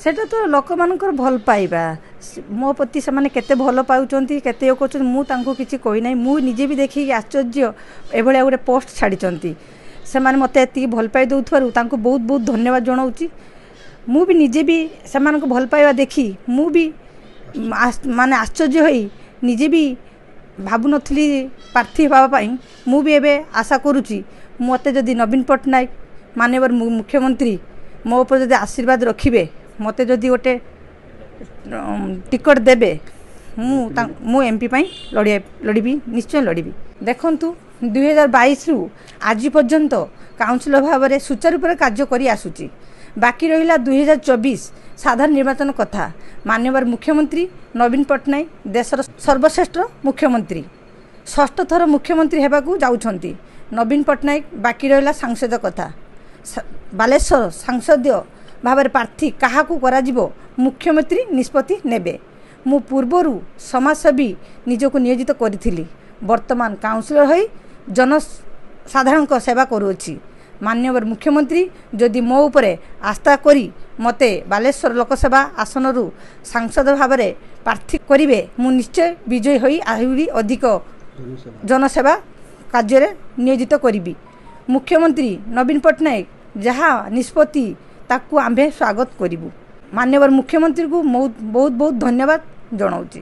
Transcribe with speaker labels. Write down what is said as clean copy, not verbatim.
Speaker 1: ସେଇଟା ତ ଲୋକମାନଙ୍କର ଭଲ ପାଇବା, ମୋ ପ୍ରତି ସେମାନେ କେତେ ଭଲ ପାଉଛନ୍ତି, କେତେ ଇଏ କରୁଛନ୍ତି, ମୁଁ ତାଙ୍କୁ କିଛି କହିନାହିଁ। ମୁଁ ନିଜେ ବି ଦେଖିକି ଆଶ୍ଚର୍ଯ୍ୟ, ଏଭଳିଆ ଗୋଟେ ପୋଷ୍ଟ ଛାଡ଼ିଛନ୍ତି। ସେମାନେ ମୋତେ ଏତିକି ଭଲ ପାଇ ଦେଉଥିବାରୁ ତାଙ୍କୁ ବହୁତ ବହୁତ ଧନ୍ୟବାଦ ଜଣାଉଛି। ମୁଁ ବି ନିଜେ ବି ସେମାନଙ୍କୁ ଭଲ ପାଇବା ଦେଖି ମୁଁ ବି ମାନେ ଆଶ୍ଚର୍ଯ୍ୟ ହୋଇ ନିଜେ ବି ଭାବୁନଥିଲି ପ୍ରାର୍ଥୀ ହେବା ପାଇଁ। ମୁଁ ବି ଏବେ ଆଶା କରୁଛି, ମୋତେ ଯଦି ନବୀନ ପଟ୍ଟନାୟକ ମାନ୍ୟବର ମୁଖ୍ୟମନ୍ତ୍ରୀ ମୋ ଉପରେ ଯଦି ଆଶୀର୍ବାଦ ରଖିବେ, ମୋତେ ଯଦି ଗୋଟେ ଟିକଟ ଦେବେ, ମୁଁ ଏମ୍ ପି ପାଇଁ ଲଢ଼ିବି, ନିଶ୍ଚୟ ଲଢ଼ିବି। ଦେଖନ୍ତୁ, 2022ରୁ ଆଜି ପର୍ଯ୍ୟନ୍ତ କାଉନସିଲର ଭାବରେ ସୁଚାରୁ ରୂପରେ କାର୍ଯ୍ୟ କରି ଆସୁଛି। ବାକି ରହିଲା 2024 ସାଧାରଣ ନିର୍ବାଚନ କଥା। ମାନ୍ୟବର ମୁଖ୍ୟମନ୍ତ୍ରୀ ନବୀନ ପଟ୍ଟନାୟକ ଦେଶର ସର୍ବଶ୍ରେଷ୍ଠ ମୁଖ୍ୟମନ୍ତ୍ରୀ, ଷଷ୍ଠ ଥର ମୁଖ୍ୟମନ୍ତ୍ରୀ ହେବାକୁ ଯାଉଛନ୍ତି ନବୀନ ପଟ୍ଟନାୟକ। ବାକି ରହିଲା ସାଂସଦ କଥା। ବାଲେଶ୍ୱର ସାଂସଦୀୟ ଭାବରେ ପ୍ରାର୍ଥୀ କାହାକୁ କରାଯିବ, ମୁଖ୍ୟମନ୍ତ୍ରୀ ନିଷ୍ପତ୍ତି ନେବେ। ମୁଁ ପୂର୍ବରୁ ସମାଜସେବୀ ନିଜକୁ ନିୟୋଜିତ କରିଥିଲି, ବର୍ତ୍ତମାନ କାଉନସିଲର ହୋଇ ଜନସାଧାରଣଙ୍କ ସେବା କରୁଅଛି। ମାନ୍ୟବର ମୁଖ୍ୟମନ୍ତ୍ରୀ ଯଦି ମୋ ଉପରେ ଆସ୍ଥା କରି ମୋତେ ବାଲେଶ୍ୱର ଲୋକସଭା ଆସନରୁ ସାଂସଦ ଭାବରେ ପ୍ରାର୍ଥୀ କରିବେ, ମୁଁ ନିଶ୍ଚୟ ବିଜୟୀ ହୋଇ ଆହୁରି ଅଧିକ ଜନସେବା କାର୍ଯ୍ୟରେ ନିୟୋଜିତ କରିବି। ମୁଖ୍ୟମନ୍ତ୍ରୀ ନବୀନ ପଟ୍ଟନାୟକ ଯାହା ନିଷ୍ପତ୍ତି, ତାକୁ ଆମ୍ଭେ ସ୍ୱାଗତ କରିବୁ। ମାନ୍ୟବର ମୁଖ୍ୟମନ୍ତ୍ରୀଙ୍କୁ ବହୁତ ବହୁତ ଧନ୍ୟବାଦ ଜଣାଉଛି।